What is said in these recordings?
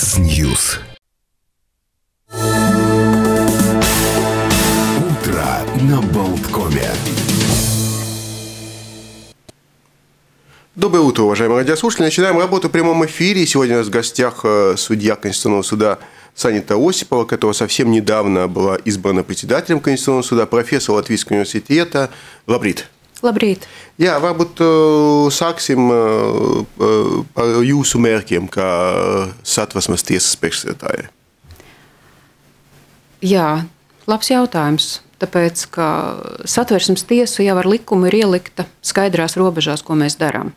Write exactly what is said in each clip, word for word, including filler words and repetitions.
X-News. Утро на Болткоме. Доброе утро, уважаемые радиослушатели. Начинаем работу в прямом эфире. Сегодня у нас в гостях судья Конституционного суда Санита Осипова, которая совсем недавно была избрана председателем Конституционного суда, профессор Латвийского университета. Labrīt. Labrīt. Jā, varbūt sāksim par jūsu mērķiem kā Satversmes tiesas priekšsēdētāja. Jā, labs jautājums. Tāpēc, ka Satversmes tiesa jau ar likumu ir ielikta skaidrās robežās, ko mēs darām.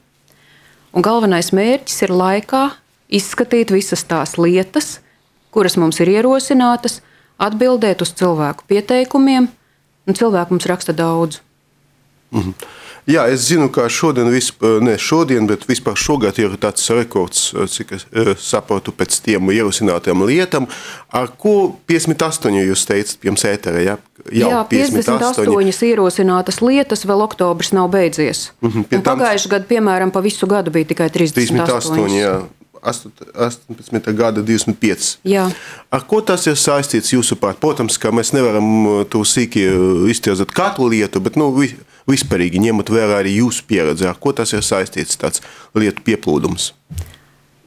Un galvenais mērķis ir laikā izskatīt visas tās lietas, kuras mums ir ierosinātas, atbildēt uz cilvēku pieteikumiem, un cilvēku mums raksta daudz. Mhm. Jā, es zinu, ka šodien, vispār, ne šodien, bet vispār šogad ir tāds rekords, cik es saprotu pēc tiem ierosinātiem lietām, ar ko piecdesmit astoņi jūs teicat pirms ētera, ja? Jau Jā, piecdesmit astoņas ierosinātas lietas, vēl oktobris nav beidzies. Mhm, pagājuši gadu, piemēram, pa visu gadu bija tikai trīsdesmit astoņi. Jā. astoņpadsmita gada divdesmit pieci. Jā. Ar ko tas ir saistīts jūsuprāt? Protams, ka mēs nevaram to sīki iztirzāt katru lietu, bet nu, vispārīgi ņemot vērā arī jūsu pieredzi. Ar ko tas ir saistīts tāds lietu pieplūdums?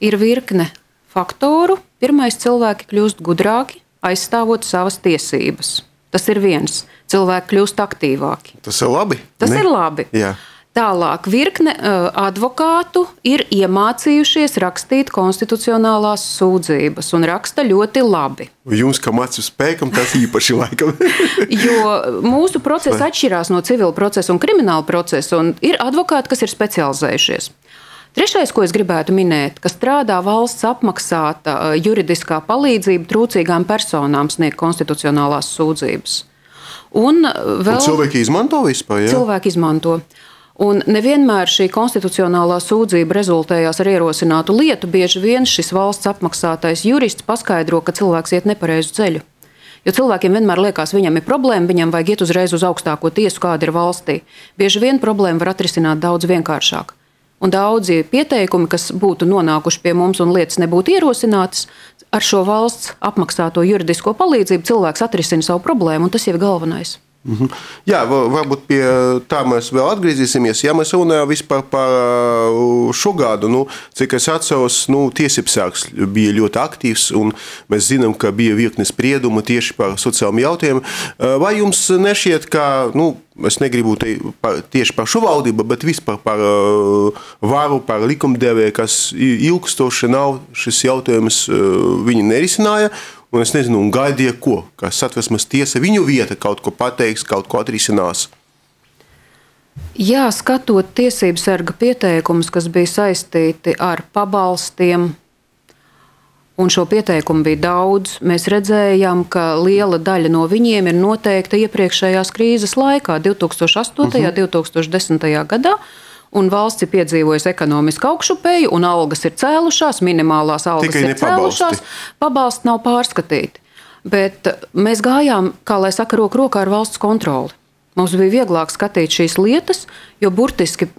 Ir virkne faktoru. Pirmais, cilvēki kļūst gudrāki, aizstāvot savas tiesības. Tas ir viens. Cilvēki kļūst aktīvāki. Tas ir labi? Tas ne? ir labi. Jā. Tālāk, virkne uh, advokātu ir iemācījušies rakstīt konstitucionālās sūdzības un raksta ļoti labi. Jums, kā mācību spēkam, tas īpaši laikam. Jo mūsu procesi atšķirās no civila procesa un krimināla procesa, un ir advokāti, kas ir specializējušies. Trešais, ko es gribētu minēt, ka strādā valsts apmaksāta uh, juridiskā palīdzība trūcīgām personām sniegt konstitucionālās sūdzības. Un, uh, vēl... un cilvēki izmanto vispār, jā? Cilvēki izmanto. Un nevienmēr šī konstitucionālā sūdzība rezultējās ar ierosinātu lietu. Bieži vien šis valsts apmaksātais jurists paskaidro, ka cilvēks iet nepareizu ceļu. Jo cilvēkiem vienmēr liekas, viņam ir problēma, viņam vajag iet uzreiz uz augstāko tiesu, kāda ir valstī. Bieži vien problēma var atrisināt daudz vienkāršāk. Un daudzi pieteikumi, kas būtu nonākuši pie mums un lietas nebūtu ierosinātas, ar šo valsts apmaksāto juridisko palīdzību cilvēks atrisina savu problēmu, un tas jau ir galvenais. Mhm. Jā, varbūt pie tā mēs vēl atgriezīsimies. Ja mēs runājam vispār par šo gadu, nu, cik es atceros, nu, tiesībsargs bija ļoti aktīvs, un mēs zinām, ka bija virkne spriedumu tieši par sociāliem jautājumiem. Vai jums nešķiet, ka, nu, es negribu te par, tieši par šo valdību, bet vispār par uh, varu, par likumdevēju, kas ilgstoši nav šis jautājums, uh, viņi nerisināja. Un es nezinu, un gaidīja ko, ka Satversmes tiesa viņu vieta kaut ko pateiks, kaut ko atrisinās. Jā, skatot tiesību sarga pieteikumus, kas bija saistīti ar pabalstiem, un šo pieteikumu bija daudz, mēs redzējām, ka liela daļa no viņiem ir noteikta iepriekšējās krīzes laikā, divi tūkstoši astotajā, uh-huh. divi tūkstoši desmitajā gadā. Un valsts ir piedzīvojusi ekonomisku augšupeju, un algas ir cēlušās, minimālās algas Tikai ir cēlušās, pabalsti nav pārskatīti. Bet mēs gājām, kā lai saka, roku rokā ar valsts kontroli. Mums bija vieglāk skatīt šīs lietas, jo burtiski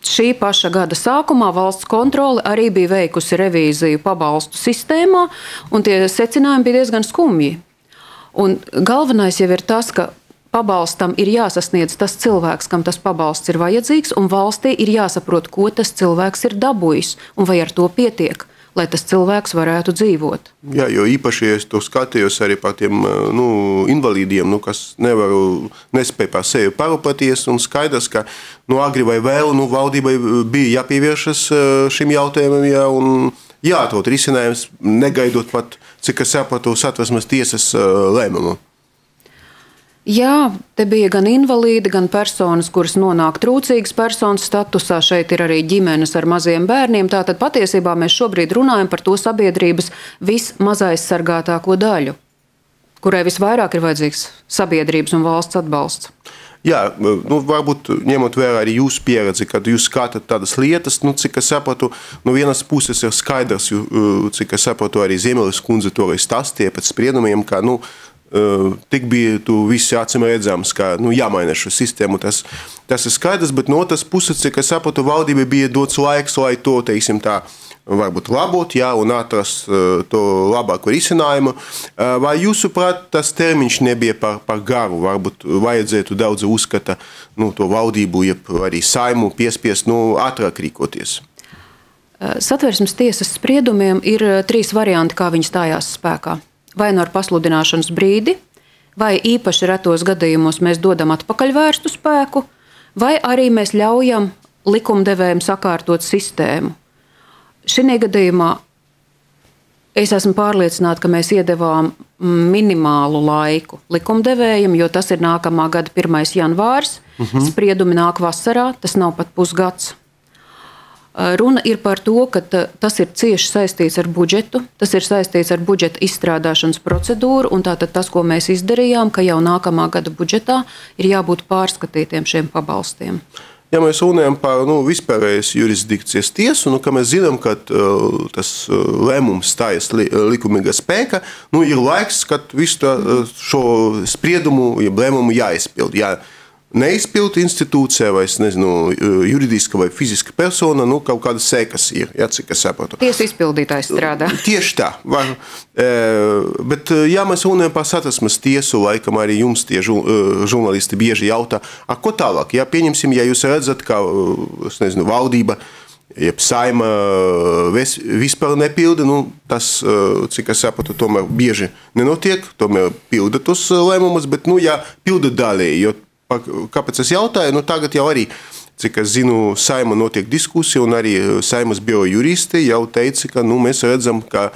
šī paša gada sākumā valsts kontrole arī bija veikusi revīziju pabalstu sistēmā, un tie secinājumi bija diezgan skumji. Un galvenais jau ir tas, ka pabalstam ir jāsasniedz tas cilvēks, kam tas pabalsts ir vajadzīgs, un valstī ir jāsaprot, ko tas cilvēks ir dabūjis, un vai ar to pietiek, lai tas cilvēks varētu dzīvot. Jā, jo īpaši es to skatījos arī par tiem nu, invalīdiem, nu, kas nevaru, nespēja par sevi parūpēties, un skaidrs, ka nu, agri vai vēl nu, valdībai bija jāpievēršas šim jautājumam, jā, un jāatrod risinājums, negaidot pat, cik es sapratu, Satversmes tiesas lēmumu. Jā, te bija gan invalīdi, gan personas, kuras nonāk trūcīgas personas statusā. Šeit ir arī ģimenes ar maziem bērniem. Tātad patiesībā mēs šobrīd runājam par to sabiedrības vismazaizsargātāko daļu, kurai visvairāk ir vajadzīgs sabiedrības un valsts atbalsts. Jā, nu, varbūt ņemot vērā arī jūsu pieredzi, kad jūs skatāt tādas lietas, nu, cik es sapratu, no vienas puses ir skaidrs, cik es sapratu, arī Ziemelis kundze to arī stāstīja pēc spriedumiem, ka, nu, Uh, tik bija tu visi acīm redzams, ka nu, jāmaina šo sistēmu. Tas, tas ir skaidrs, bet no otras puses, cik es sapratu, valdībai bija dots laiks, lai to, teiksim tā, varbūt labot, jā, un atrast to labāko risinājumu. Vai jūsuprāt, tas termiņš nebija par, par garu? Varbūt vajadzētu daudz uzskata nu, to valdību, jeb arī Saimu piespiest nu, ātrāk rīkoties? Satversmes tiesas spriedumiem ir trīs varianti, kā viņi stājās spēkā. Vai nu ar pasludināšanas brīdi, vai īpaši retos gadījumos mēs dodam atpakaļvērstu spēku, vai arī mēs ļaujam likumdevējiem sakārtot sistēmu. Šī gadījumā es esmu pārliecināta, ka mēs iedevām minimālu laiku likumdevējiem, jo tas ir nākamā gada pirmais janvārs, uh-huh. Spriedumi nāk vasarā, tas nav pat pusgads. Runa ir par to, ka tas ir cieši saistīts ar budžetu, tas ir saistīts ar budžeta izstrādāšanas procedūru, un tātad tas, ko mēs izdarījām, ka jau nākamā gada budžetā ir jābūt pārskatītiem šiem pabalstiem. Ja mēs runājam par nu, vispārējas jurisdikcijas tiesu, nu, ka mēs zinām, ka uh, tas uh, lēmums stājas li, likumīga spēka, nu, ir laiks, kad visu tā, uh, šo spriedumu, ja lēmumu jāizpild. Jā, neizpild institūcija vai, nezinu, juridiska vai fiziska persona, nu, kaut kādas sekas ir, ja, cik es saprotu. Tiesu izpildītājs strādā. Tieši tā. Var, e, bet, ja mēs runājam par Satversmes tiesu, laikam arī jums tie žurnālisti bieži jautā, a, ko tālāk? Ja, pieņemsim, ja jūs redzat, ka, es nezinu, valdība, jeb Saima vispār nepilda, nu, tas, cik es saprotu, tomēr bieži nenotiek, tomēr pilda tos lēmumus, bet, nu, ja pilda daļēji, jo kāpēc es jautāju? Nu, tagad jau arī, cik es zinu, Saima notiek diskusija, un arī Saimas biroja juristi jau teica, ka nu, mēs redzam, ka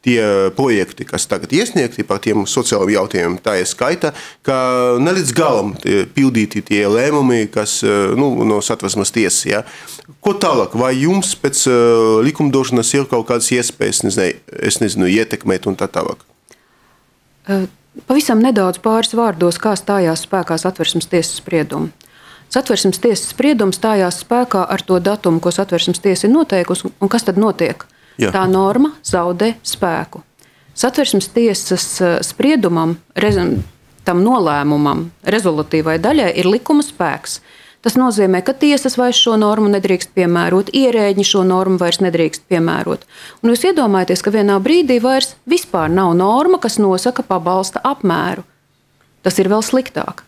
tie projekti, kas tagad iesniegti par tiem sociālajiem jautājumiem, tā ir skaita, ka ne līdz galam pildīti tie lēmumi, kas nu, no Satversmes tiesas. Ja? Ko tālāk? Vai jums pēc likumdošanas ir kaut kādas iespējas, nezinu, es nezinu, ietekmēt un tā tālāk? Uh. Pavisam nedaudz pāris vārdos, kā stājās spēkā Satversmes tiesas spriedumi. Satversmes tiesas spriedums stājās spēkā ar to datumu, ko Satversmes tiesa ir noteikusi, un kas tad notiek? Jā. Tā norma zaudē spēku. Satversmes tiesas spriedumam, tam nolēmumam, rezolutīvai daļai ir likuma spēks. Tas nozīmē, ka tiesas vairs šo normu nedrīkst piemērot, ierēģi šo normu vairs nedrīkst piemērot. Un jūs iedomājaties, ka vienā brīdī vairs vispār nav norma, kas nosaka pabalsta apmēru. Tas ir vēl sliktāk.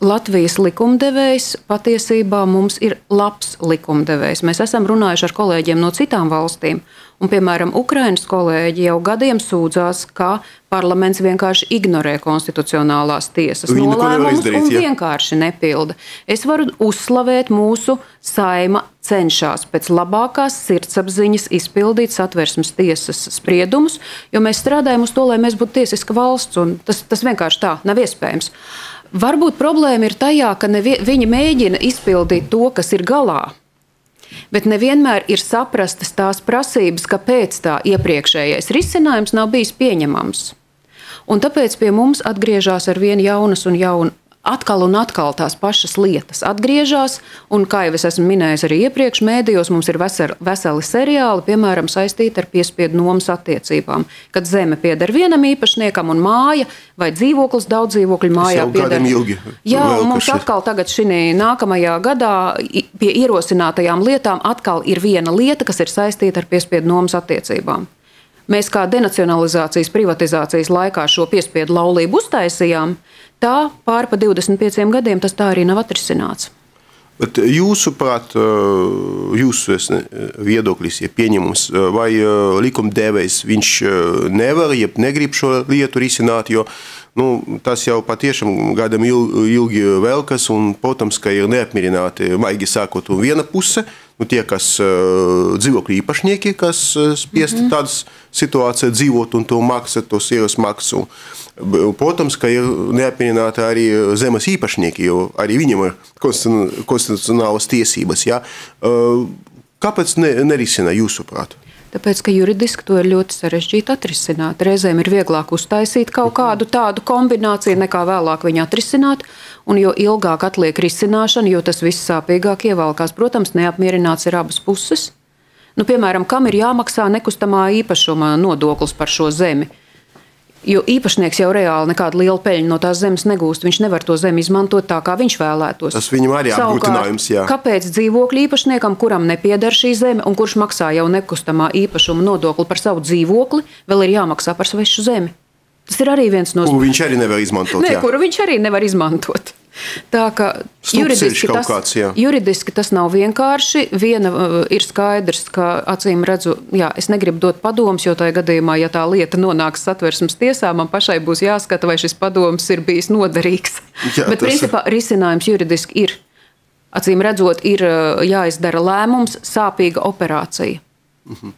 Latvijas likumdevējs patiesībā mums ir labs likumdevējs. Mēs esam runājuši ar kolēģiem no citām valstīm. Un, piemēram, Ukrainas kolēģi jau gadiem sūdzās, ka parlaments vienkārši ignorē konstitucionālās tiesas nolēmumus un vienkārši nepilda. Es varu uzslavēt mūsu Saima cenšas pēc labākās sirdsapziņas izpildīt Satversmes tiesas spriedumus, jo mēs strādājam uz to, lai mēs būtu tiesiska valsts, un tas, tas vienkārši tā nav iespējams. Varbūt problēma ir tajā, ka nevi, viņi mēģina izpildīt to, kas ir galā, bet nevienmēr ir saprastas tās prasības, kāpēc tā iepriekšējais risinājums nav bijis pieņemams. Un tāpēc pie mums atgriežas ar vien jaunas un jaunu, atkal un atkal tās pašas lietas atgriežas, un, kā jau es esmu minējis arī iepriekš, mēdījos mums ir veseli, veseli seriāli, piemēram, saistīti ar piespiedu nomas attiecībām, kad zeme pieder vienam īpašniekam un māja vai dzīvoklis daudz dzīvokļu mājā pieder. Jā, un mums atkal tagad šī nākamajā gadā pie ierosinātajām lietām atkal ir viena lieta, kas ir saistīta ar piespiedu nomas attiecībām. Mēs kā denacionalizācijas, privatizācijas laikā šo piespiedu laulību uztaisījām, tā pāri pa divdesmit pieciem gadiem tas tā arī nav atrisināts. Bet jūsuprāt, jūsu viedoklis, ja pieņemums, vai likumdevējs viņš nevar, ja negrib šo lietu risināt, jo nu, tas jau patiešām gadam ilgi velkas, un, protams, ka ir neapmierināti, maigi sākot, un viena puse, nu, tie, kas dzīvokļu īpašnieki, kas spiest mm-hmm. tādas situācijas dzīvot un to maksāt, tos ieras maksu. Protams, ka ir neapmierināti arī zemes īpašnieki, jo arī viņiem ir konstitucionālas tiesības. Ja? Kāpēc ne, nerisina jūsuprāt? Tāpēc, ka juridiski to ir ļoti sarežģīti atrisināt. Reizēm ir vieglāk uztaisīt kaut kādu tādu kombināciju, nekā vēlāk viņu atrisināt, un jo ilgāk atliek risināšana, jo tas viss sāpīgāk ievalkās. Protams, neapmierināts ir abas puses. Nu, piemēram, kam ir jāmaksā nekustamā īpašuma nodoklis par šo zemi? Jo īpašnieks jau reāli nekādu lielu peļņu no tās zemes negūst. Viņš nevar to zemi izmantot tā, kā viņš vēlētos. Tas viņam arī apgrūtinājums, jā. Kāpēc dzīvokļu īpašniekam, kuram nepieder šī zeme un kurš maksā jau nekustamā īpašuma nodokli par savu dzīvokli, vēl ir jāmaksā par svešu zemi? Tas ir arī viens no... Kuru viņš arī nevar izmantot, Nē, jā. kuru viņš arī nevar izmantot. Tā kā juridiski tas, kāds, jā. juridiski tas nav vienkārši. Viena uh, ir skaidrs, ka acīm redzu, jā, es negribu dot padomus, jo tajā gadījumā, ja tā lieta nonāks Satversmes tiesā, man pašai būs jāskata, vai šis padomus ir bijis noderīgs. Jā, Bet principā ir... risinājums juridiski ir. Acīm redzot, ir uh, jāizdara lēmums, sāpīga operācija. Mhm.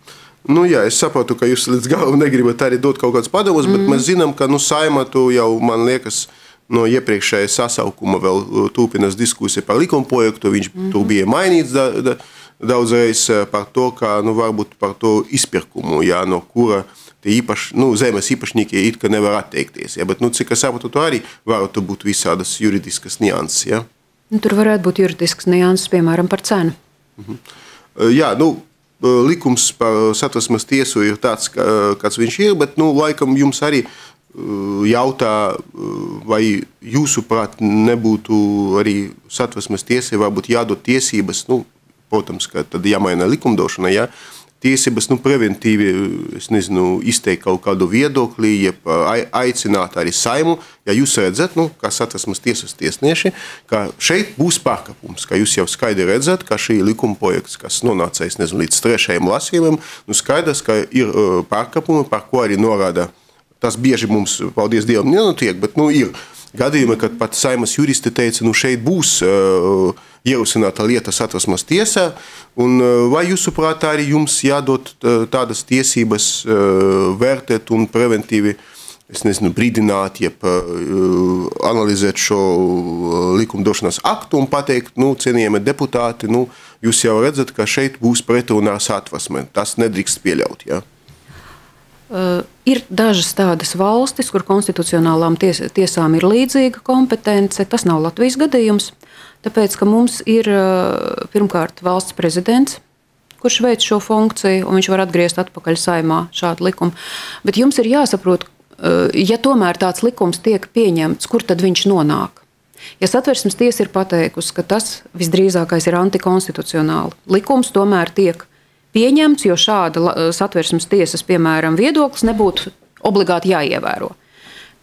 Nu, jā, es saprotu, ka jūs līdz galam negribat arī dot kaut kāds padomus, mm. bet mēs zinām, ka nu, Saimatu jau, man liekas, no iepriekšējā sasaukuma vēl turpinās diskusija par likumprojektu. Viņš mm. tur bija mainīts da, da, daudzreiz par to, ka nu, varbūt par to izpirkumu, jā, no kura īpaš, nu, zemes īpašnieki it kā nevar atteikties. Jā, bet, nu, cik es saprotu, to arī varētu būt visādas juridiskas nianses. Jā. Nu, tur varētu būt juridiskas nianses, piemēram, par cenu. Mhm. Jā, nu, likums par Satversmes tiesu ir tāds, kāds viņš ir, bet, nu, laikam jums arī jautā, vai jūsuprāt nebūtu arī Satversmes tiesai varbūt jādod tiesības, nu, protams, ka tad jāmaina likumdošana, jā, tiesības, nu, preventīvi, es nezinu, izteikt kaut kādu viedokli, jeb aicināt arī Saimu, ja jūs redzat, nu, kā Satversmes tiesas tiesnieši, ka šeit būs pārkāpums, ka jūs jau skaidri redzat, ka šī likuma projekts, kas nonāca, es nezinu, līdz trešajam lasījumam, nu, skaidrs, ka ir pārkāpumi, par ko arī norāda. Tas bieži mums, paldies Dievam, nenotiek, bet, nu, ir gadījumi, kad pat Saimas juristi teica, nu, šeit būs uh, ierosināta lieta Satversmes tiesā, un uh, vai jūsuprāt arī jums jādod uh, tādas tiesības uh, vērtēt un preventīvi, es nezinu, brīdināt, jeb uh, analizēt šo uh, likumdošanas aktu un pateikt, nu, cienījami deputāti, nu, jūs jau redzat, ka šeit būs pretrunā Satversmē. Tas nedrīkst pieļaut, jā. Uh, ir dažas tādas valstis, kur konstitucionālām ties, tiesām ir līdzīga kompetence. Tas nav Latvijas gadījums, tāpēc, ka mums ir uh, pirmkārt valsts prezidents, kurš veic šo funkciju, un viņš var atgriezt atpakaļ Saimā šādu likumu. Bet jums ir jāsaprot, uh, ja tomēr tāds likums tiek pieņemts, kur tad viņš nonāk? Ja Satversmes tiesa ir pateikusi, ka tas visdrīzākais ir antikonstitucionāli, likums tomēr tiek pieņemts, jo šāda Satversmes tiesas, piemēram, viedoklis nebūtu obligāti jāievēro.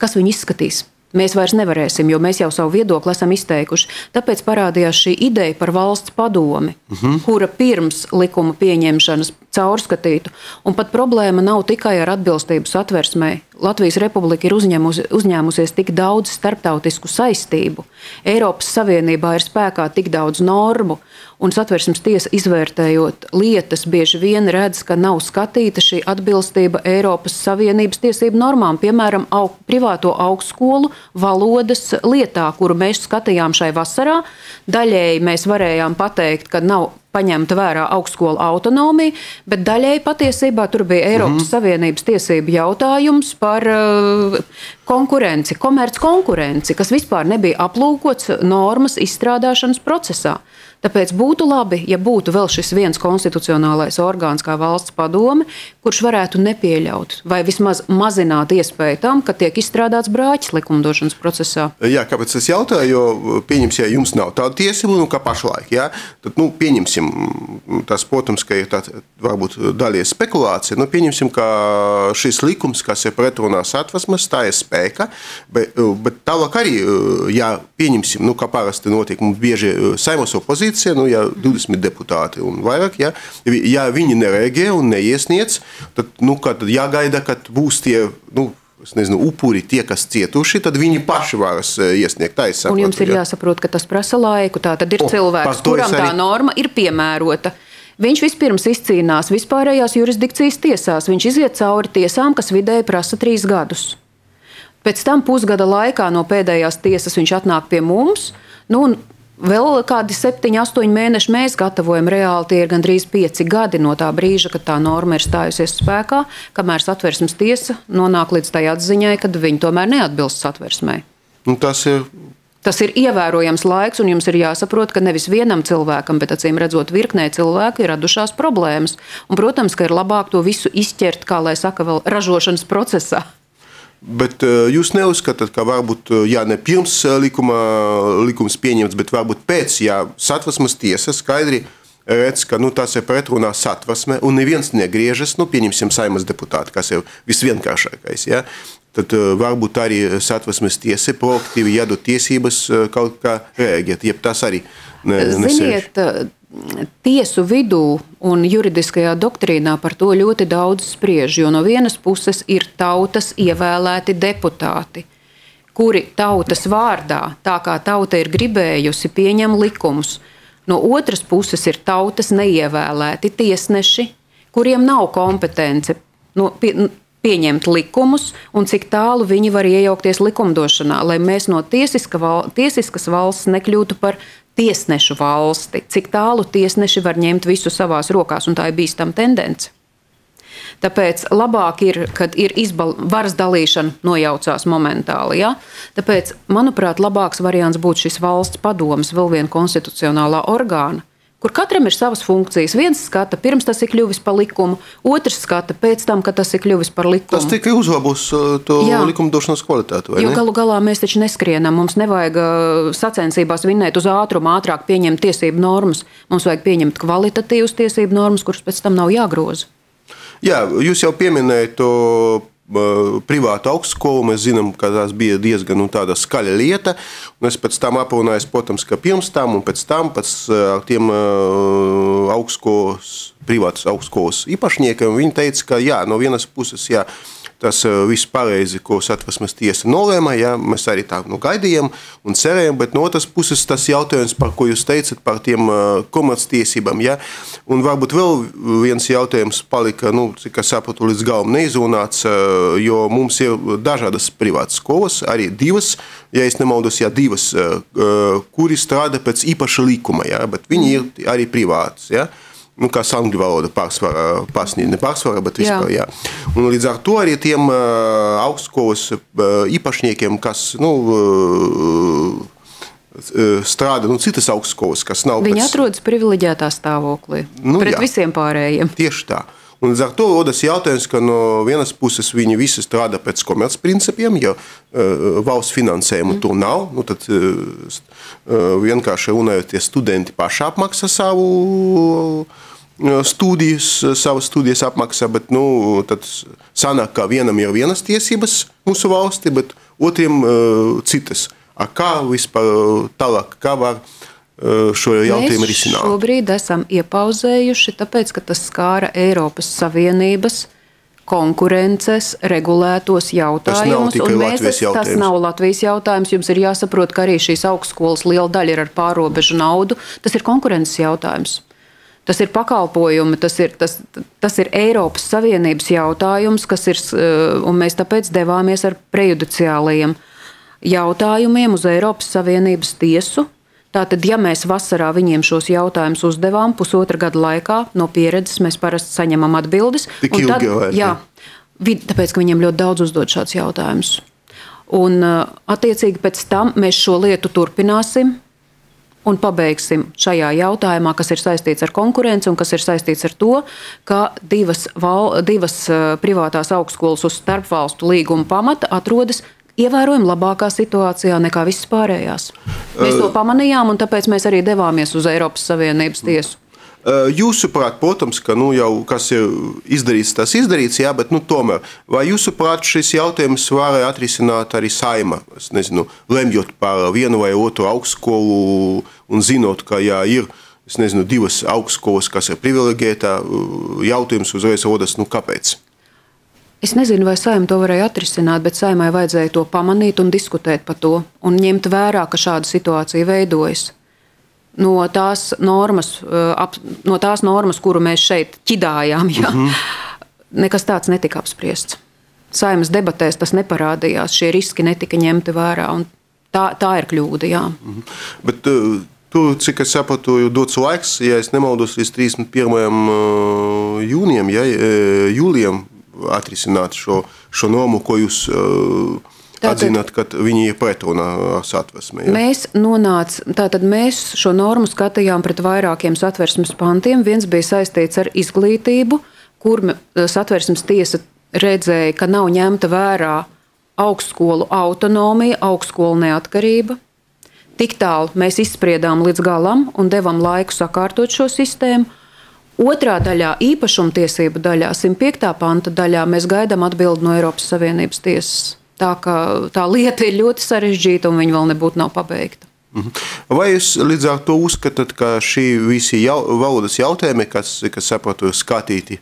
Kas viņu izskatīs? Mēs vairs nevarēsim, jo mēs jau savu viedokli esam izteikuši. Tāpēc parādījās šī ideja par valsts padomi, uh-huh. kura pirms likuma pieņemšanas caurskatītu. Un pat problēma nav tikai ar atbilstību Satversmei. Latvijas Republika ir uzņēmusi, uzņēmusies tik daudz starptautisku saistību. Eiropas Savienībā ir spēkā tik daudz normu, un Satversmes tiesa izvērtējot lietas bieži vien redz, ka nav skatīta šī atbilstība Eiropas Savienības tiesību normām, piemēram, aug, privāto augstskolu valodas lietā, kuru mēs skatījām šai vasarā. Daļēji mēs varējām pateikt, ka nav paņemta vērā augstskola autonomija, bet daļēji patiesībā tur bija Eiropas mm-hmm. Savienības tiesību jautājums par uh, konkurenci, komerc konkurenci, kas vispār nebija aplūkots normas izstrādāšanas procesā. Tāpēc būtu labi, ja būtu vēl šis viens konstitucionālais orgāns kā valsts padome, kurš varētu nepieļaut vai vismaz mazināt iespēju tam, ka tiek izstrādāts brāķis likumdošanas procesā. Jā, kāpēc es jautāju, jo pieņemsim, ja jums nav tāda tiesība, nu kā pašlaik, jā, tad, nu, pieņemsim, tas, protams, ka ir tā, varbūt daļies spekulācija, nu, pieņemsim, ka šis likums, kas ir pretrunā Satversmes, tā ir spēka, bet, bet tālāk arī, jā, pieņemsim, nu, kā parasti notiek, mums bieži Saeimas opozīcija, nu, ja divdesmit deputāti un vairāk, ja, ja viņi nereaģē un neiesniedz, tad, nu, kad jāgaida, kad būs tie, nu, es nezinu, upuri, tie, kas cietuši, tad viņi paši varas iesniegt. Tā es saprotu, un jums ir ja. jāsaprot, ka tas prasa laiku, tā tad ir o, cilvēks, kuram arī... tā norma ir piemērota. Viņš vispirms izcīnās vispārējās jurisdikcijas tiesās, viņš iziet cauri tiesām, kas vidēji prasa trīs gadus. Pēc tam pusgada laikā no pēdējās tiesas viņš atnāk pie mums, nu, un vēl kādi septiņi, astoņi mēneši mēs gatavojam reāli, tie ir gandrīz pieci gadi no tā brīža, kad tā norma ir stājusies spēkā, kamēr Satversmes tiesa nonāk līdz tai atziņai, kad viņi tomēr neatbilst Satversmei. Un tas ir... Tas ir ievērojams laiks, un jums ir jāsaprot, ka nevis vienam cilvēkam, bet acīm redzot virknē cilvēku ir radušās problēmas. Un, protams, ka ir labāk to visu izķert, kā lai saka, vēl ražošanas procesā. Bet jūs neuzskatāt, ka varbūt, jā, ne pirms likuma, likums pieņemts, bet varbūt pēc, jā, Satversmes tiesa skaidri redz, ka nu, tas ir pretrunā Satversme un neviens negriežas, nu, pieņemsim Saeimas deputāti, kas ir visvienkāršākais, jā. Tad varbūt arī Satversmes tiesa proaktīvi jādod tiesības kaut kā reaģēt, jeb tas arī ne, Ziniet, tiesu vidū un juridiskajā doktrīnā par to ļoti daudz spriež, jo no vienas puses ir tautas ievēlēti deputāti, kuri tautas vārdā, tā kā tauta ir gribējusi, pieņem likumus. No otras puses ir tautas neievēlēti tiesneši, kuriem nav kompetence no, pie, pieņemt likumus un cik tālu viņi var iejaukties likumdošanā, lai mēs no tiesiska val, tiesiskas valsts nekļūtu par tiesnešu valsti, cik tālu tiesneši var ņemt visu savās rokās, un tā ir bīstama tendence. Tāpēc labāk ir, kad ir izbal, varas dalīšana nojaucās momentāli. Ja? Tāpēc, manuprāt, labāks variants būtu šis valsts padomes, vēl viena konstitucionālā orgāna, kur katram ir savas funkcijas. Viens skata, pirms tas ir kļuvis par likumu, otrs skata pēc tam, kad tas ir kļuvis par likumu. Tas tikai uzlabos to Jā. likumdošanas kvalitāti, vai jo ne? Galu galā mēs taču neskrienam, mums nevajag sacensībās vinnēt uz ātrumu, ātrāk pieņemt tiesību normas. Mums vajag pieņemt kvalitatīvas tiesību normas, kuras pēc tam nav jāgroza. Jā, jūs jau pieminējat to privātu augstskolu, mēs zinām, ka tās bija diezgan nu, tāda skaļa lieta, un es pēc tam aprunājos, protams, ka pirms tam un pēc tam pēc tiem augstskolas, privātas augstskolas īpašniekiem, viņi teica, ka jā, no vienas puses, jā, tas viss pareizi, ko Satversmes tiesa nolēma, jā, mēs arī tā nu, gaidījām un cerējām, bet no otras puses tas jautājums, par ko jūs teicat, par tiem komerctiesībām, jā, un varbūt vēl viens jautājums palika, nu, cik es sapratu, līdz galam neizrunāts, jo mums ir dažādas privātas skolas, arī divas, ja es nemaldos, jā, divas, kuri strādā pēc īpaša likuma, jā, bet viņi ir arī privātas, jā. Nu, kā angļu valoda pārsvarā, pārsniedz, ne pārsvarā, bet vispār, jā. jā. Un līdz ar to arī tiem uh, augstskolas uh, īpašniekiem, kas, nu, uh, strādā, nu, citas augstskolas, kas nav Viņi pēc... atrodas privileģētā stāvoklī, nu, pret jā. visiem pārējiem. Tieši tā. Un līdz ar to rodas jautājums, ka no vienas puses viņi visi strādā pēc komercprincipiem, jo uh, valsts finansējumu mm. tur nav. Nu, tad uh, vienkārši runājot, tie studenti paši apmaksā savu uh, studijas, savas studijas apmaksā, bet nu, tad sanāk, ka vienam ir vienas tiesības mūsu valsti, bet otriem uh, citas. A kā vispār tālāk, kā var šo jautājumu risināt? Mēs šobrīd esam iepauzējuši, tāpēc, ka tas skāra Eiropas Savienības konkurences regulētos jautājumus. Tas nav tikai Latvijas jautājums. Tas nav Latvijas jautājums. Jums ir jāsaprot, ka arī šīs augstskolas liela daļa ir ar pārobežu naudu. Tas ir konkurences jautājums. Tas ir pakalpojumi, tas ir, tas, tas ir Eiropas Savienības jautājums, kas ir, un mēs tāpēc devāmies ar prejudiciālajiem jautājumiem uz Eiropas Savienības tiesu. Tātad, ja mēs vasarā viņiem šos jautājumus uzdevām pusotra gada laikā, no pieredzes mēs parasti saņemam atbildes. Tik ilgi tad, vai? Jā, tāpēc, ka viņiem ļoti daudz uzdod šāds jautājums. Un attiecīgi pēc tam mēs šo lietu turpināsim un pabeigsim šajā jautājumā, kas ir saistīts ar konkurenci un kas ir saistīts ar to, ka divas, val, divas privātās augstskolas uz starpvalstu līguma pamata atrodas ievērojami labākā situācijā nekā visas pārējās. Mēs to pamanījām, un tāpēc mēs arī devāmies uz Eiropas Savienības tiesu. Jūsuprāt, protams, ka nu, jau kas ir izdarīts, tas izdarīts, jā, bet nu, tomēr, vai jūsuprāt šis jautājums varēja atrisināt arī Saeima, es nezinu, lemjot par vienu vai otru augstskolu un zinot, ka jā, ir, es nezinu, divas augstskolas, kas ir privileģētā, jautājums uzreiz rodas, nu kāpēc? Es nezinu, vai Saeima to varēja atrisināt, bet Saeimai vajadzēja to pamanīt un diskutēt par to un ņemt vērā, ka šāda situācija veidojas. No tās normas, no tās normas kuru mēs šeit ķidājām, ja, mm-hmm. nekas tāds netika apspriests. Saeimas debatēs tas neparādījās, šie riski netika ņemti vērā, un tā, tā ir kļūda, jā. Mm-hmm. Bet uh, tur, cik es sapratu, dots laiks, ja es nemaldos, līdz trīsdesmit pirmajam jūnijam, ja, jūlijam, atrisināt šo, šo normu, ko jūs uh, atzināt, ka viņi ir pretrunā ar Satversmi. Ja? Mēs nonāc, tātad mēs šo normu skatījām pret vairākiem Satversmes pantiem. Viens bija saistīts ar izglītību, kur Satversmes tiesa redzēja, ka nav ņemta vērā augstskolu autonomija, augstskolu neatkarība. Tik tālu mēs izspriedām līdz galam un devam laiku sakārtot šo sistēmu. Otrā daļā, īpašumtiesību daļā, simt piektā panta daļā, mēs gaidām atbildi no Eiropas Savienības tiesas. Tā kā tā lieta ir ļoti sarežģīta un viņa vēl nebūtu nav pabeigta. Vai jūs līdz ar to uzskatāt, ka šī visi jau, valodas jautājumi, kas, kas sapratu, ir skatīti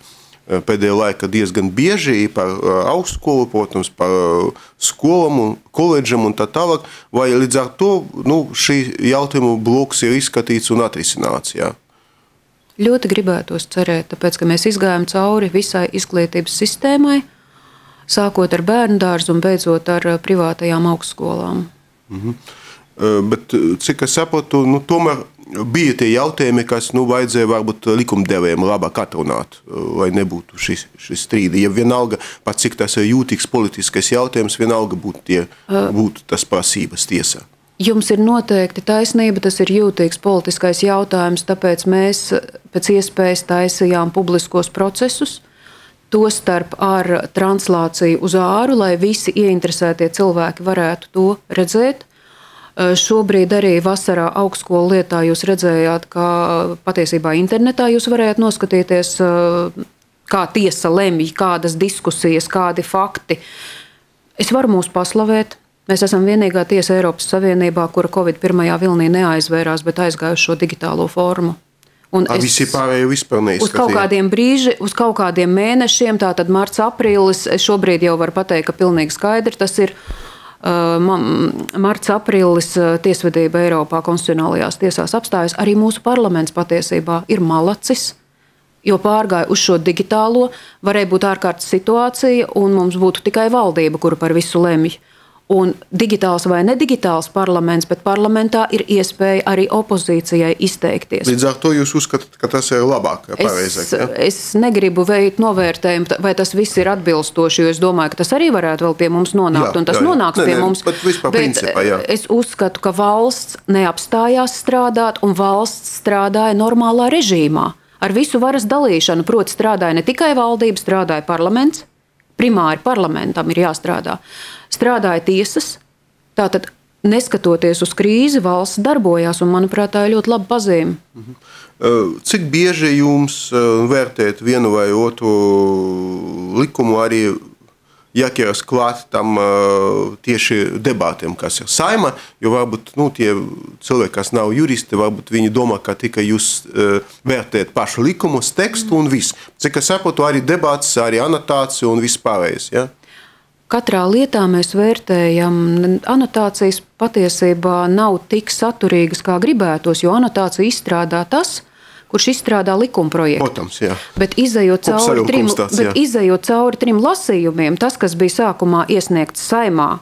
pēdējā laika diezgan bieži par augstskolu, protams, par skolām, koledžam un tā tālāk, vai līdz ar to nu, šī jautājumu bloks ir izskatīts un atrisināts? Jā? Ļoti gribētos cerēt, tāpēc, ka mēs izgājām cauri visai izglītības sistēmai, sākot ar bērnu dārzu un beidzot ar privātajām augstskolām. Mhm. Bet, cik es saprotu, nu, tomēr bija tie jautājumi, kas nu, vajadzēja varbūt likumdevējiem labāk atrunāt, lai nebūtu šis, šis strīdi. Ja vienalga, pat cik tas ir jūtīgs politiskais jautājums, vienalga būtu, tie, būtu tas prasības tiesā. Jums ir noteikti taisnība, tas ir jūtīgs politiskais jautājums, tāpēc mēs pēc iespējas taisījām publiskos procesus, tostarp ar translāciju uz āru, lai visi ieinteresētie cilvēki varētu to redzēt. Šobrīd arī vasarā augstskolu lietā jūs redzējāt, ka patiesībā internetā jūs varējāt noskatīties, kā tiesa lemj, kādas diskusijas, kādi fakti. Es varu mūs paslavēt. Mēs esam vienīgā tiesa Eiropas Savienībā, kura Covid pirmajā vilnī neaizvērās, bet aizgājuši šo digitālo formu. Un A, visi pārējie vispār neizskatīja? Uz kaut kādiem brīži, uz kaut kādiem mēnešiem, tātad marts, aprīlis, es šobrīd jau varu pateikt, ka pilnīgi skaidri tas ir. Marts, aprīlis tiesvedība Eiropā konstitucionālajās tiesās apstājas. Arī mūsu parlaments patiesībā ir malacis, jo pārgāja uz šo digitālo, varēja būt ārkārtas situācija un mums būtu tikai valdība, kura par visu lemj. Un digitāls vai nedigitāls parlaments, bet parlamentā ir iespēja arī opozīcijai izteikties. Līdz ar to jūs uzskatāt, ka tas ir labāk, pareizāk? Es, ja? es negribu veikt novērtējumu, vai tas viss ir atbilstoši, jo es domāju, ka tas arī varētu vēl pie mums nonākt, jā, un tas jā, jā. nonāks ne, pie ne, mums. Bet, vispār bet principā, jā. Es uzskatu, ka valsts neapstājās strādāt, un valsts strādāja normālā režīmā. Ar visu varas dalīšanu, proti strādāja ne tikai valdība, strādāja parlaments, primāri parlamentam ir jāstrādā. Strādāja tiesas, tātad neskatoties uz krīzi, valsts darbojās, un, manuprāt, tā ir ļoti laba pazīme. Cik bieži jums vērtēt vienu vai otru likumu arī jāķeras klāt tam tieši debātiem, kas ir Saima, jo varbūt nu, tie cilvēki, kas nav juristi, varbūt viņi domā, ka tikai jūs vērtēt pašu likumus, tekstu un viss. Cik es saprotu, arī debāts, arī anotācija un viss pārējais, ja? Katrā lietā mēs vērtējam, anotācijas patiesībā nav tik saturīgas, kā gribētos, jo anotācija izstrādā tas, kurš izstrādā likumprojektu. Protams, jā. Bet izejot cauri, trim, bet izejot cauri trim lasījumiem, tas, kas bija sākumā iesniegts Saimā,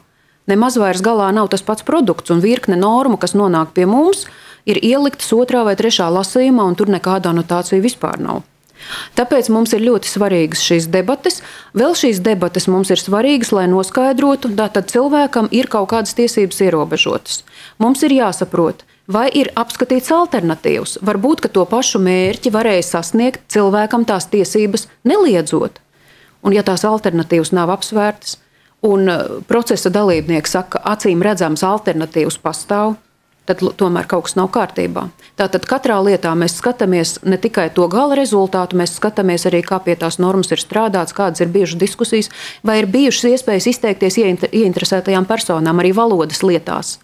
nemaz vairs galā nav tas pats produkts, un virkne normu, kas nonāk pie mums, ir ieliktas otrā vai trešā lasījumā, un tur nekāda anotācija vispār nav. Tāpēc mums ir ļoti svarīgas šīs debates. Vēl šīs debates mums ir svarīgas, lai noskaidrotu, tātad cilvēkam ir kaut kādas tiesības ierobežotas. Mums ir jāsaprot, vai ir apskatīts alternatīvas. Varbūt, ka to pašu mērķi varēja sasniegt cilvēkam tās tiesības neliedzot. Un ja tās alternatīvas nav apsvērtas, un procesa dalībnieki saka, acīm redzams alternatīvas pastāv, tad tomēr kaut kas nav kārtībā. Tātad katrā lietā mēs skatāmies ne tikai to gala rezultātu, mēs skatāmies arī, kā pie tās normas ir strādāts, kādas ir bijušas diskusijas, vai ir bijušas iespējas izteikties ieinteresētajām personām arī valodas lietās.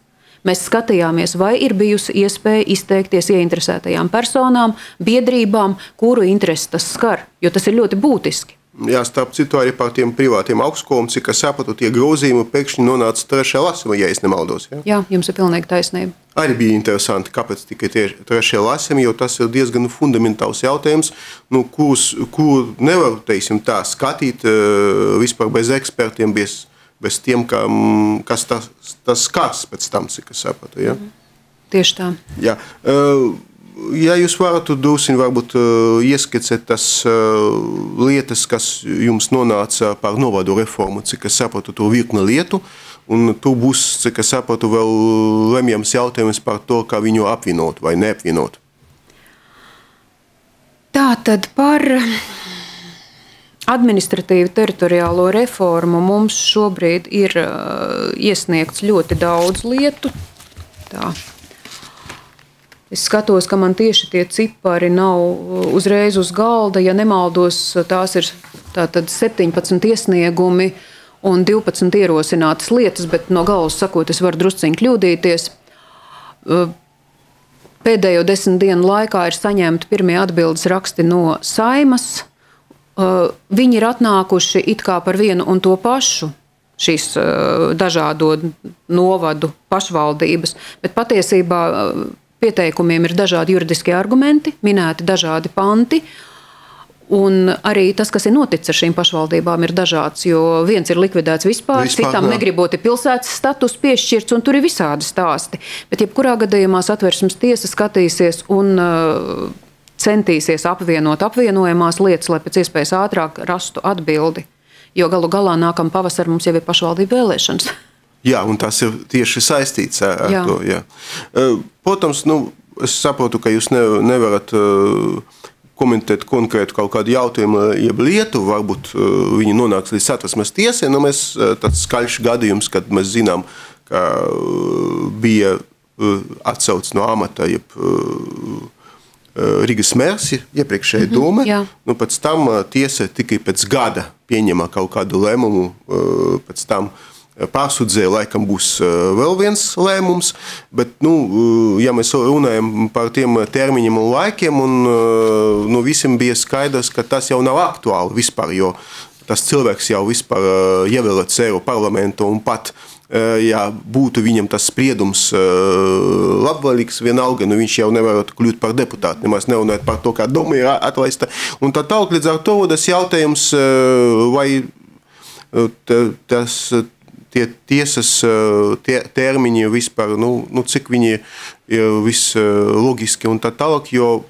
Mēs skatījāmies, vai ir bijusi iespēja izteikties ieinteresētajām personām, biedrībām, kuru interesi tas skar, jo tas ir ļoti būtiski. Jā, starp citu arī par tiem privātiem augstskolām, cik es sapratu, tie grozījumi pēkšņi nonāca trešajā lasījumā, ja es nemaldos. Ja? Jā, jums ir pilnīgi taisnība. Arī bija interesanti, kāpēc tikai trešajā lasījumā, jo tas ir diezgan fundamentāls jautājums, nu, kurus, kuru nevar, teiksim, tā skatīt vispār bez ekspertiem, bez, bez tiem, kā, kas tas, tas skars pēc tam, cik es sapratu. Ja? Tieši tā. Jā. Ja jūs varat drusku varbūt ieskicēt tas lietas, kas jums nonāca par novadu reformu, cik es sapratu, to virkne lietu, un tur būs, cik es sapratu, vēl lemjams jautājums par to, kā viņu apvienot vai neapvienot. Tā tad par administratīvu teritoriālo reformu mums šobrīd ir uh, iesniegts ļoti daudz lietu. Tā. Es skatos, ka man tieši tie cipari nav uzreiz uz galda. Ja nemaldos, tās ir tātad septiņpadsmit iesniegumi un divpadsmit ierosinātas lietas, bet no galvas sakot, es varu drusciņi kļūdīties. Pēdējo desmit dienu laikā ir saņemti pirmie atbildes raksti no Saimas. Viņi ir atnākuši it kā par vienu un to pašu, šīs dažādo novadu pašvaldības, bet patiesībā pieteikumiem ir dažādi juridiskie argumenti, minēti dažādi panti, un arī tas, kas ir noticis ar šīm pašvaldībām, ir dažāds, jo viens ir likvidēts vispār, vispār citam jā. Negribot ir pilsētas status piešķirts, un tur ir visādi stāsti. Bet jebkurā gadījumā Satversmes tiesa skatīsies un uh, centīsies apvienot apvienojamās lietas, lai pēc iespējas ātrāk rastu atbildi, jo galu galā nākam pavasar mums jau ir pašvaldību vēlēšanas. Jā, un tas ir tieši saistīts ar jā. To. Jā. Protams, nu, es saprotu, ka jūs ne, nevarat komentēt konkrētu kaut kādu jautājumu, jeb lietu, varbūt viņi nonāks līdz Satversmes tiesai, nu mēs tāds skaļš gadījums, kad mēs zinām, ka bija atsauc no amata, jeb Rīgas mērs, iepriekšēja mm-hmm, doma, jā. Nu, pēc tam tiesa tikai pēc gada pieņemā kaut kādu lēmumu, pēc tam pārsudzēja, laikam būs vēl viens lēmums, bet, nu, ja mēs runājam par tiem termiņiem un laikiem, un, nu, visiem bija skaidrs, ka tas jau nav aktuāli vispār, jo tas cilvēks jau vispār ievēlēts Eiropas parlamentu un pat ja būtu viņam tas spriedums labvēlīgs vienalga, nu viņš jau nevarētu kļūt par deputātu, nemaz nerunājot par to, kā doma ir atlaista. Un tā tālāk līdz ar to tas jautājums, vai tas, tie tiesas tie termiņi vispār, nu, nu cik viņi ir vislogiski un tā tālāk, jo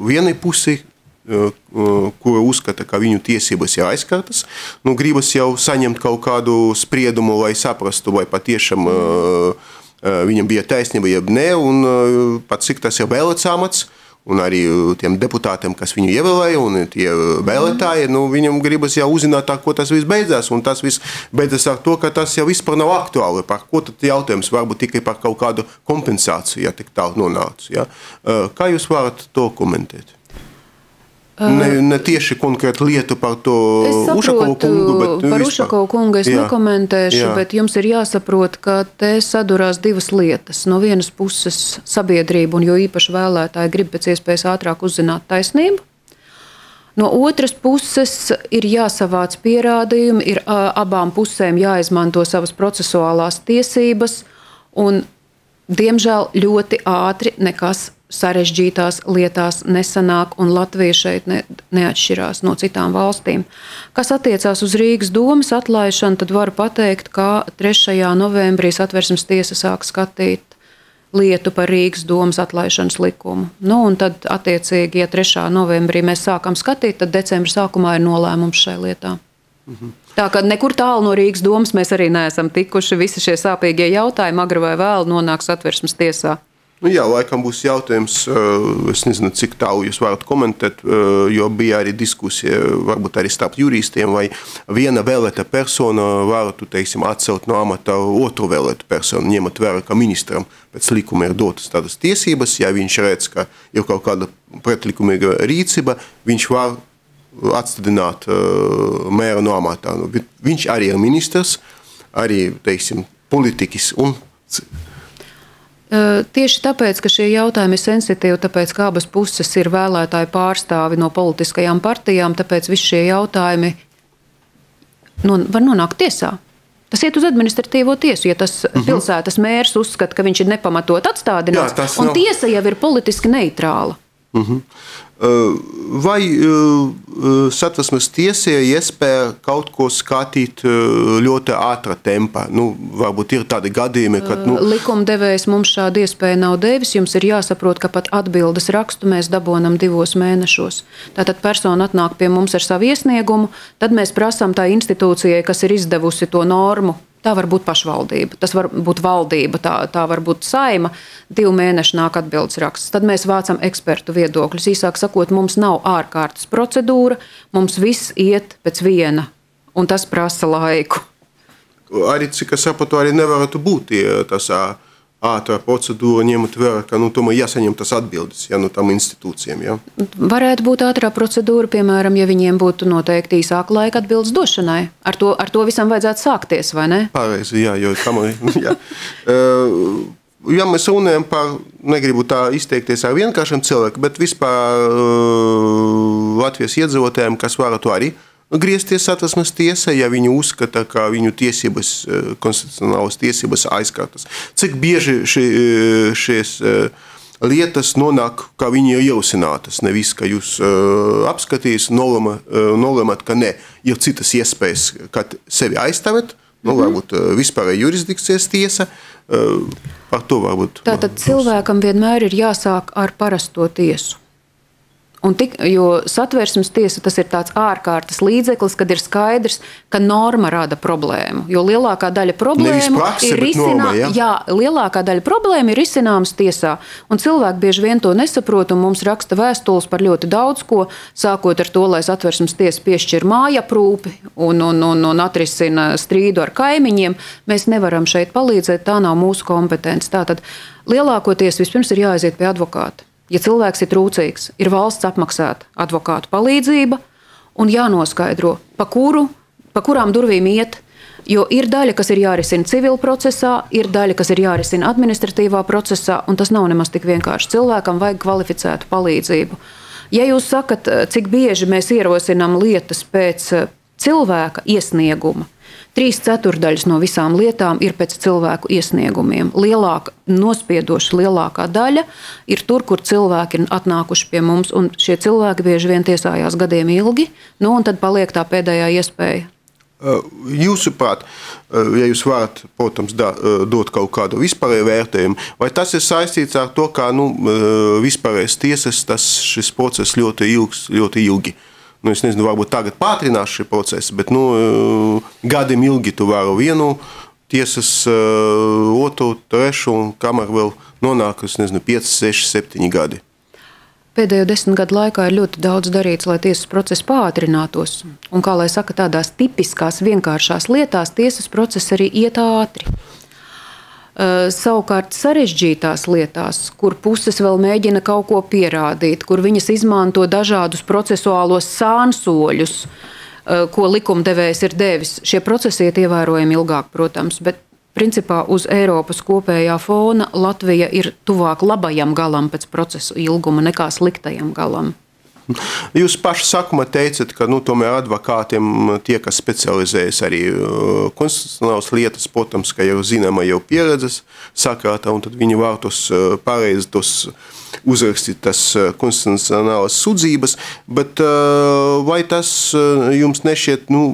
vienai pusi, kura uzskata, ka viņu tiesības ir aizskartas. Nu, gribas jau saņemt kaut kādu spriedumu, lai saprastu, vai patiešām uh, viņam bija taisnība, jeb ne, un uh, pat cik tas ir vēlēts amats, un arī tiem deputātiem, kas viņu ievēlēja, un tie vēlētāji, nu, viņam gribas jau uzzināt, tā, ko tas viss beidzās, un tas viss beidzās ar to, ka tas jau vispār nav aktuāli. Par ko tad jautājums? Varbūt tikai par kaut kādu kompensāciju, ja tik tālu nonāca. Ja? Uh, kā jūs varat to komentēt? Ne, ne tieši konkrēti lietu par to Ušakovu kungu, bet par Ušakovu kungu es jā, nekomentēšu, jā. Bet jums ir jāsaprot, ka te sadurās divas lietas. No vienas puses sabiedrība un jo īpaši vēlētāji grib pēc iespējas ātrāk uzzināt taisnību. No otras puses ir jāsavāc pierādījumi, ir abām pusēm jāizmanto savas procesuālās tiesības un, diemžēl, ļoti ātri nekas sarežģītās lietās nesanāk, un Latvija šeit ne, neatšķirās no citām valstīm. Kas attiecās uz Rīgas domas atlaišanu, tad varu pateikt, ka trešajā novembrī Satversmes tiesa sāk skatīt lietu par Rīgas domas atlaišanas likumu. Nu, un tad, attiecīgi, ja trešā novembrī mēs sākam skatīt, tad decembra sākumā ir nolēmums šai lietā. Mhm. Tā kā nekur tālu no Rīgas domas mēs arī neesam tikuši. Visi šie sāpīgie jautājumi agri vai vēlu nonāk Satversmes tiesā. Nu jā, laikam būs jautājums, es nezinu, cik tālu jūs varat komentēt, jo bija arī diskusija, varbūt arī starp juristiem, vai viena vēlēta persona varētu, teiksim, atcelt no amata otru vēlētu personu, ņemot vērā, ka ministram pēc likuma ir dotas tādas tiesības, ja viņš redz, ka ir kaut kāda pretlikumīga rīcība, viņš var atstādināt mēra no amatā. Viņš arī ir ministrs, arī, teiksim, politiķis un Tieši tāpēc, ka šie jautājumi ir sensitīvi, tāpēc, ka abas puses ir vēlētāju pārstāvi no politiskajām partijām, tāpēc visi šie jautājumi non, var nonākt tiesā. Tas iet uz administratīvo tiesu, ja tas uh-huh. pilsētas mērs uzskata, ka viņš ir nepamatot atstādināts, jā, un nav... tiesa jau ir politiski neitrāla. Uh-huh. Vai Satversmes tiesai iespēja kaut ko skatīt ļoti ātrā tempā? Nu, varbūt ir tādi gadījumi, kad... Nu... Likumdevējs mums šādu iespēju nav devis. Jums ir jāsaprot, ka pat atbildes rakstu mēs dabonam divos mēnešos. Tātad persona atnāk pie mums ar savu iesniegumu, tad mēs prasām tā institūcijai, kas ir izdevusi to normu, Tā var būt pašvaldība, tas var būt valdība, tā, tā var būt saima, divu mēnešu nāk atbildes raksts. Tad mēs vācam ekspertu viedokļus. Īsāk sakot, mums nav ārkārtas procedūra, mums viss iet pēc viena, un tas prasa laiku. Arī, cik es saprotu, arī nevarētu būt tas ātrā procedūra, ņemot vērā, ka nu, tomēr jāsaņem tas atbildes ja, no tam institūcijiem. Ja. Varētu būt ātrā procedūra, piemēram, ja viņiem būtu noteikti īsāka laika atbildes došanai. Ar to, ar to visam vajadzētu sākties, vai ne? Pareizi, jā, jo kamēr, jā. Ja mēs runājam par, negribu tā izteikties ar vienkāršiem cilvēkiem, bet vispār Latvijas iedzīvotājiem, kas varētu arī griezties Satversmes tiesā, ja viņi uzskata, ka viņu tiesības, konstitucionālas tiesības aizkārtas. Cik bieži šī, šies lietas nonāk, kā viņi ir ierosinātas, nevis, ka jūs apskatīs, nolemat, ka ne, ir citas iespējas, kad sevi aizstāvēt, nu, varbūt vispārēja jurisdikcijas tiesa, par to varbūt. Tātad cilvēkam vienmēr ir jāsāk ar parasto tiesu. Un tik, jo Satversmes tiesa tas ir tāds ārkārtas līdzeklis, kad ir skaidrs, ka norma rada problēmu. Jo lielākā daļa problēmu prakse, ir risinām, norma, ja? jā, lielākā daļa problēmu ir risināmas tiesā. Un cilvēki bieži vien to nesaprot, un mums raksta vēstules par ļoti daudz ko, sākot ar to, lai Satversmes tiesa piešķir mājaprūpi un, un, un, un atrisina strīdu ar kaimiņiem. Mēs nevaram šeit palīdzēt, tā nav mūsu kompetence. Tātad lielākoties vispirms ir jāaiziet pie advokāta. Ja cilvēks ir trūcīgs, ir valsts apmaksāta advokātu palīdzība un jānoskaidro, pa, kuru, pa kurām durvīm iet, jo ir daļa, kas ir jārisina civil procesā, ir daļa, kas ir jārisina administratīvā procesā, un tas nav nemaz tik vienkārši. Cilvēkam vajag kvalificētu palīdzību. Ja jūs sakat, cik bieži mēs ierosinām lietas pēc cilvēka iesnieguma, Trīs ceturdaļas no visām lietām ir pēc cilvēku iesniegumiem. Lielāka, nospiedoša lielākā daļa ir tur, kur cilvēki ir atnākuši pie mums, un šie cilvēki bieži vien tiesājās gadiem ilgi, nu, un tad paliek tā pēdējā iespēja. Jūsuprāt, ja jūs varat, protams, da, dot kaut kādu vispārēju vērtējumu, vai tas ir saistīts ar to, ka nu, vispārējais tiesas tas, šis process ļoti ilgs, ļoti ilgi? Nu, es nezinu, varbūt tagad pātrinās šī procesa, bet nu, gadiem ilgi tu varu vienu tiesas, otru, trešu, un kamēr vēl nonāk, es nezinu, pieci, seši, septiņi gadi. Pēdējo desmit gadu laikā ir ļoti daudz darīts, lai tiesas process pātrinātos. Un, kā lai saka, tādās tipiskās, vienkāršās lietās tiesas process arī iet ātri. Uh, savukārt sarežģītās lietās, kur puses vēl mēģina kaut ko pierādīt, kur viņas izmanto dažādus procesuālos sānsoļus, uh, ko likumdevējs ir devis, šie procesi iet ievērojami ilgāk, protams, bet principā uz Eiropas kopējā fona Latvija ir tuvāk labajam galam pēc procesu ilguma nekā sliktajam galam. Jūs paši sākumā teicat, ka nu, tomēr advokātiem tie, kas specializējas arī konstitucionālas lietas, protams, ka jau zināma jau pieredzes sakrātā, un tad viņi var tos pareizi tos uzrakstīt tas konstitucionālas sudzības, bet vai tas jums nešķiet nu,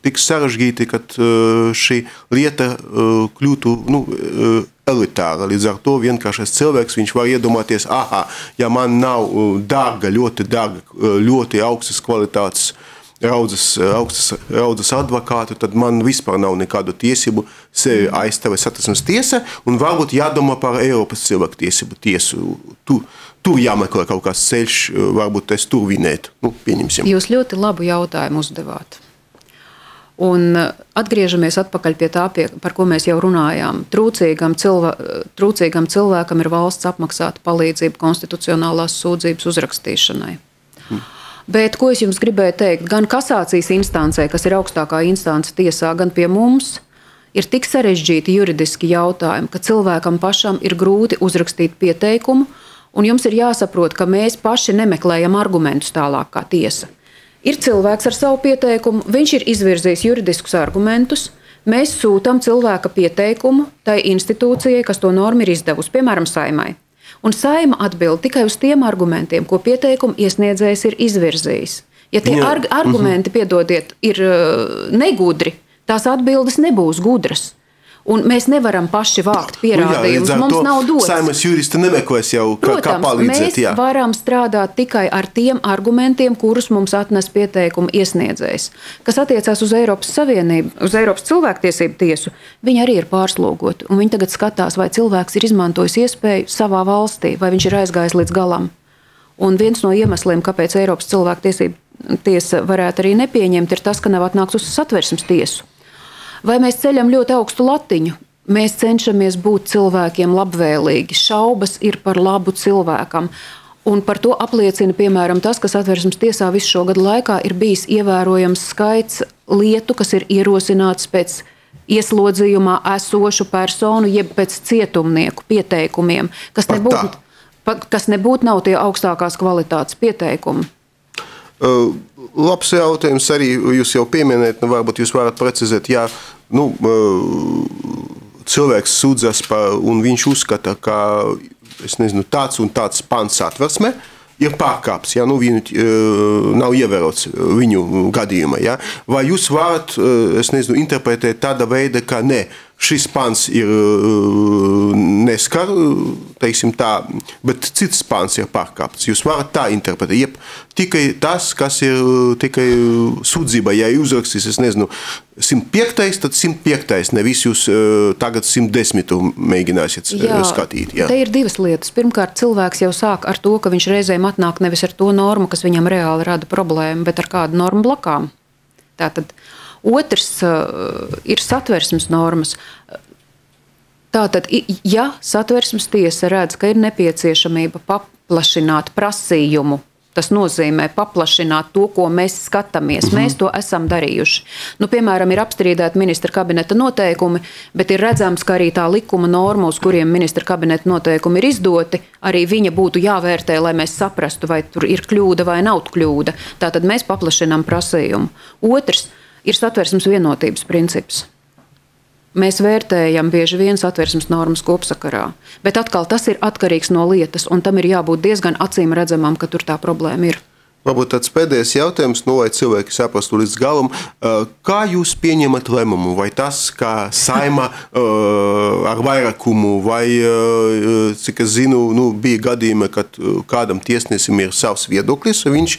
tik sarežģīti, kad šī lieta kļūtu nu, elitāra. Līdz ar to vienkāršais cilvēks, viņš var iedomāties, aha, ja man nav dārga, ļoti dārga, ļoti augstas kvalitātes raudzes, augstas raudzes advokātu, tad man vispār nav nekādu tiesību sevi aizstāvēt Satversmes tiesa, un varbūt jādomā par Eiropas cilvēku tiesību tiesu. Tu, tur jāmeklē kaut kāds ceļš, varbūt es tur vinētu. Nu, pieņemsim. Jūs ļoti labu jautājumu uzdevāt. Un atgriežamies atpakaļ pie tā, pie, par ko mēs jau runājām. Trūcīgam, cilvē, trūcīgam cilvēkam ir valsts apmaksāta palīdzība konstitucionālās sūdzības uzrakstīšanai. Hmm. Bet, ko es jums gribēju teikt, gan kasācijas instancē, kas ir augstākā instance tiesā, gan pie mums, ir tik sarežģīti juridiski jautājumi, ka cilvēkam pašam ir grūti uzrakstīt pieteikumu, un jums ir jāsaprot, ka mēs paši nemeklējam argumentus tālāk kā tiesa. Ir cilvēks ar savu pieteikumu, viņš ir izvirzījis juridiskus argumentus, mēs sūtam cilvēka pieteikumu tai institūcijai, kas to normu ir izdevusi, piemēram, saimai. Un saima atbild tikai uz tiem argumentiem, ko pieteikumu iesniedzējs ir izvirzījis. Ja tie arg argumenti, piedodiet, ir negudri, tās atbildes nebūs gudras. Un mēs nevaram paši vākt pierādījumus. Nu, jā, mums nav dots. Saimas juristi nemeklēs jau, kā, Protams, kā palīdzēt. Mēs jā. varam strādāt tikai ar tiem argumentiem, kurus mums atnes pieteikumu iesniedzējs. Kas attiecās uz Eiropas Savienību, uz Eiropas cilvēktiesību tiesu, viņi arī ir pārslogoti. Un viņi tagad skatās, vai cilvēks ir izmantojis iespēju savā valstī, vai viņš ir aizgājis līdz galam. Un viens no iemesliem, kāpēc Eiropas cilvēktiesību tiesa varētu arī nepieņemt, ir tas, ka nav atnāks uz Satversmes tiesu. Vai mēs ceļam ļoti augstu latiņu? Mēs cenšamies būt cilvēkiem labvēlīgi. Šaubas ir par labu cilvēkam. Un par to apliecina, piemēram, tas, ka Satversmes tiesā visu šo gadu laikā ir bijis ievērojams skaits lietu, kas ir ierosināts pēc ieslodzījumā esošu personu, jeb pēc cietumnieku pieteikumiem, kas nebūtu, kas nebūtu nav tie augstākās kvalitātes pieteikumi. Uh, labs jautājums arī, jūs jau pieminējat, nu, varbūt jūs varat precizēt, jā, nu, uh, cilvēks sūdzas par, un viņš uzskata, ka, es nezinu, tāds un tāds pants Satversmē ir pārkāps, ja, nu, viņu uh, nav ievērots viņu gadījumā, ja. Vai jūs varat, uh, es nezinu, interpretēt tāda veida, ka ne, šis pants ir uh, neskar, teiksim tā, bet cits pants ir pārkāpts. Jūs varat tā interpretēt, jeb tikai tas, kas ir tikai sūdzība, ja uzrakstīs, es nezinu, simt piektais, tad simt piektais, nevis jūs uh, tagad simt desmitu mēģināsiet jā, skatīt. Jā, te ir divas lietas. Pirmkārt, cilvēks jau sāk ar to, ka viņš reizēm atnāk nevis ar to normu, kas viņam reāli rada problēmu, bet ar kādu normu blakām. Tātad otrs uh, ir Satversmes normas. Tātad, ja Satversmes tiesa redz, ka ir nepieciešamība paplašināt prasījumu, tas nozīmē paplašināt to, ko mēs skatāmies. Mm-hmm. Mēs to esam darījuši. Nu, piemēram, ir apstrīdēti ministra kabineta noteikumi, bet ir redzams, ka arī tā likuma norma, uz kuriem ministra kabineta noteikumi ir izdoti, arī viņa būtu jāvērtē, lai mēs saprastu, vai tur ir kļūda vai nav kļūda. Tātad mēs paplašinām prasījumu. Otrs ir Satversmes vienotības princips. Mēs vērtējam bieži vien Satversmes normas kopsakarā, bet atkal tas ir atkarīgs no lietas, un tam ir jābūt diezgan acīm redzamam, ka tur tā problēma ir. Varbūt tāds pēdējais jautājums, nu, lai cilvēki saprastu līdz galam. Kā jūs pieņemat lēmumu? Vai tas, kā Saima ar vairākumu, vai, cik es zinu, nu, bija gadījumi, kad kādam tiesnesim ir savs viedoklis, viņš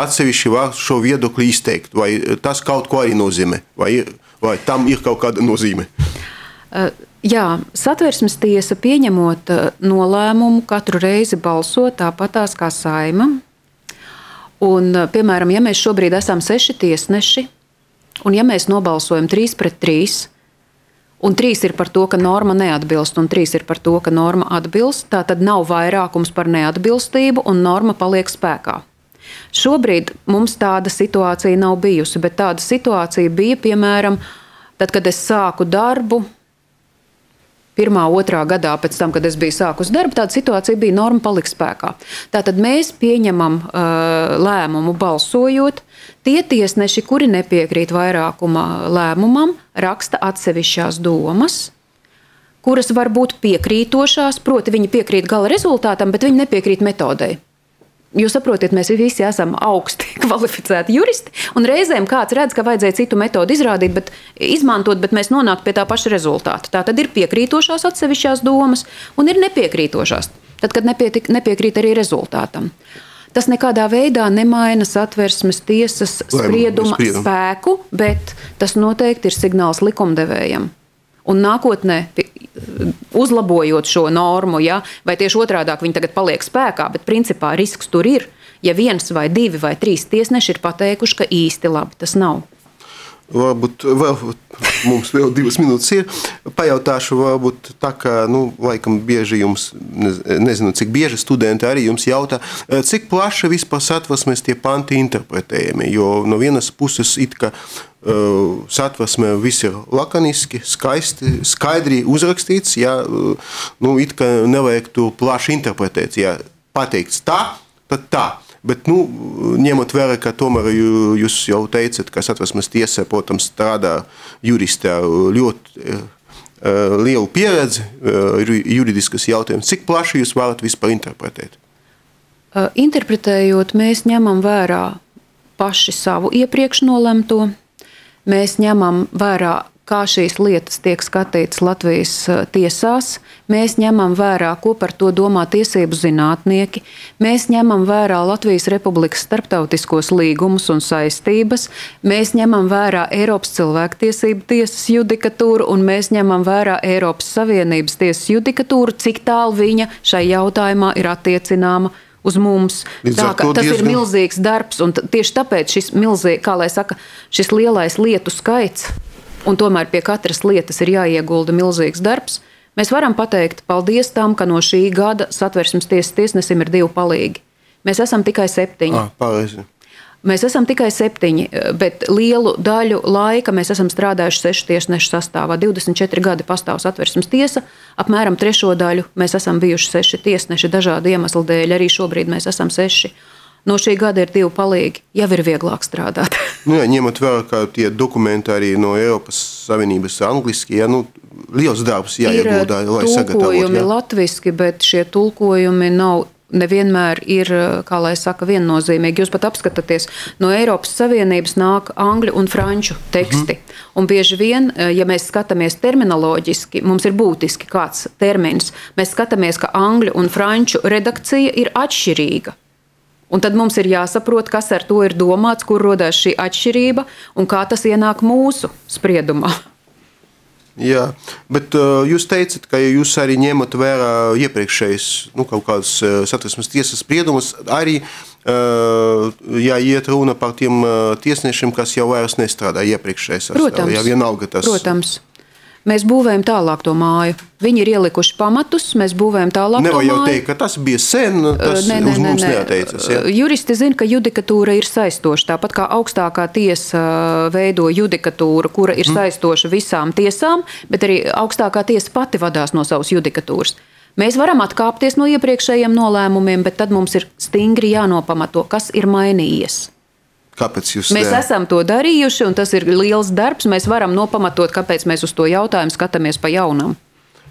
atsevišķi var šo viedokli izteikt, vai tas kaut ko arī nozīmē, vai, vai tam ir kaut kāda nozīme? Jā, Satversmes tiesa pieņemot nolēmumu katru reizi balso tāpatās kā Saima. Un, piemēram, ja mēs šobrīd esam seši tiesneši, un ja mēs nobalsojam trīs pret trīs, un trīs ir par to, ka norma neatbilst, un trīs ir par to, ka norma atbilst, tā tad nav vairākums par neatbilstību, un norma paliek spēkā. Šobrīd mums tāda situācija nav bijusi, bet tāda situācija bija, piemēram, tad, kad es sāku darbu, pirmā, otrā gadā pēc tam, kad es biju sākus darbu, tāda situācija bija norma paliks spēkā. Tātad mēs pieņemam uh, lēmumu balsojot. Tie tiesneši, kuri nepiekrīt vairākuma lēmumam, raksta atsevišķās domas, kuras var būt piekrītošās, proti viņi piekrīt gala rezultātam, bet viņi nepiekrīt metodei. Jūs saprotiet, mēs visi esam augsti kvalificēti juristi, un reizēm kāds redz, ka vajadzēja citu metodu izrādīt, bet izmantot, bet mēs nonāktu pie tā paša rezultāta. Tā tad ir piekrītošās atsevišķās domas un ir nepiekrītošās, tad, kad nepietik, nepiekrīt arī rezultātam. Tas nekādā veidā nemaina Satversmes tiesas sprieduma spēku, bet tas noteikti ir signāls likumdevējam. Un nākotnē, uzlabojot šo normu, ja, vai tieši otrādāk viņi tagad paliek spēkā, bet principā risks tur ir, ja viens vai divi vai trīs tiesneši ir pateikuši, ka īsti labi tas nav. Varbūt vēl, mums vēl divas minūtes ir. Pajautāšu, varbūt tā, ka, nu, laikam bieži jums, nezinu, cik bieži studenti arī jums jautā, cik plaši vispār Satversmes tie panti interpretējami, jo no vienas puses it ka uh, Satversmē viss ir lakoniski, skaisti, skaidri uzrakstīts, ja, nu, it ka nevajag to plaši interpretēt, ja pateikts tā, tad tā. Bet, nu, ņemot vērā, ka tomēr jūs jau teicat, ka Satversmes tiesā, protams, strādā juristi ar ļoti uh, lielu pieredzi, uh, juridiskas jautājumus. Cik plaši jūs varat vispār interpretēt? Uh, interpretējot, mēs ņemam vērā paši savu iepriekš nolemto. Mēs ņemam vērā kā šīs lietas tiek skatītas Latvijas tiesās. Mēs ņemam vērā, ko par to domā tiesību zinātnieki. Mēs ņemam vērā Latvijas Republikas starptautiskos līgumus un saistības. Mēs ņemam vērā Eiropas cilvēktiesību tiesas judikatūru un mēs ņemam vērā Eiropas Savienības tiesas judikatūru, cik tālu viņa šai jautājumā ir attiecināma uz mums. Tā, tas diezgan... ir milzīgs darbs, un tieši tāpēc šis milzīgi, kā lai saka, šis lielais lietu skaits, un tomēr pie katras lietas ir jāiegulda milzīgs darbs, mēs varam pateikt paldies tam, ka no šī gada Satversmes tiesas tiesnesim ir divi palīgi. Mēs esam tikai septiņi. Ah, pareizi. Mēs esam tikai septiņi, bet lielu daļu laika mēs esam strādājuši sešu tiesnešu sastāvā. divdesmit četri gadi pastāv Satversmes tiesa, apmēram trešo daļu mēs esam bijuši seši tiesneši dažādu iemeslu dēļ, arī šobrīd mēs esam seši. No šī gada ir divi palīgi, jau ir vieglāk strādāt. Nu, jā, ņemot vērā, ka tie dokumenti arī no Eiropas Savienības angliski, ja, nu, liels darbs jāieguldā, lai sagatavot. Ir tulkojumi latviski, bet šie tulkojumi nav nevienmēr ir, kā lai saka, viennozīmīgi. Jūs pat apskatāties, no Eiropas Savienības nāk angļu un franču teksti. Mm. Un bieži vien, ja mēs skatāmies terminoloģiski, mums ir būtiski kāds termins. Mēs skatāmies, ka angļu un franču redakcija ir atšķirīga. Un tad mums ir jāsaprot, kas ar to ir domāts, kur rodās šī atšķirība un kā tas ienāk mūsu spriedumā. Jā, bet uh, jūs teicat, ka jūs arī ņemat vērā iepriekšējais, nu, kaut kādas uh, Satversmes tiesas spriedumus, arī, uh, ja iet runa par tiem uh, tiesnešiem, kas jau vairs nestrādā iepriekšējais sastāvā. Protams, ja vienalga tas... protams. Mēs būvējam tālāk to māju. Viņi ir ielikuši pamatus, mēs būvējam tālāk Nevar to māju. Nevar jau teikt, ka tas bija sen, tas ne, ne, uz mums ne, ne. neateicas. Ja? Juristi zina, ka judikatūra ir saistoša. Tāpat kā augstākā tiesa veido judikatūru, kura ir saistoša visām tiesām, bet arī augstākā tiesa pati vadās no savas judikatūras. Mēs varam atkāpties no iepriekšējiem nolēmumiem, bet tad mums ir stingri jānopamato, kas ir mainījies. Kāpēc jūs mēs ne? esam to darījuši, un tas ir liels darbs. Mēs varam nopamatot, kāpēc mēs uz to jautājumu skatāmies pa jaunam.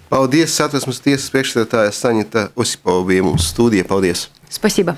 Paldies, Satversmes tiesas priekšsēdētāja Saņita Osipova bija mums studija. Paldies! Spasība!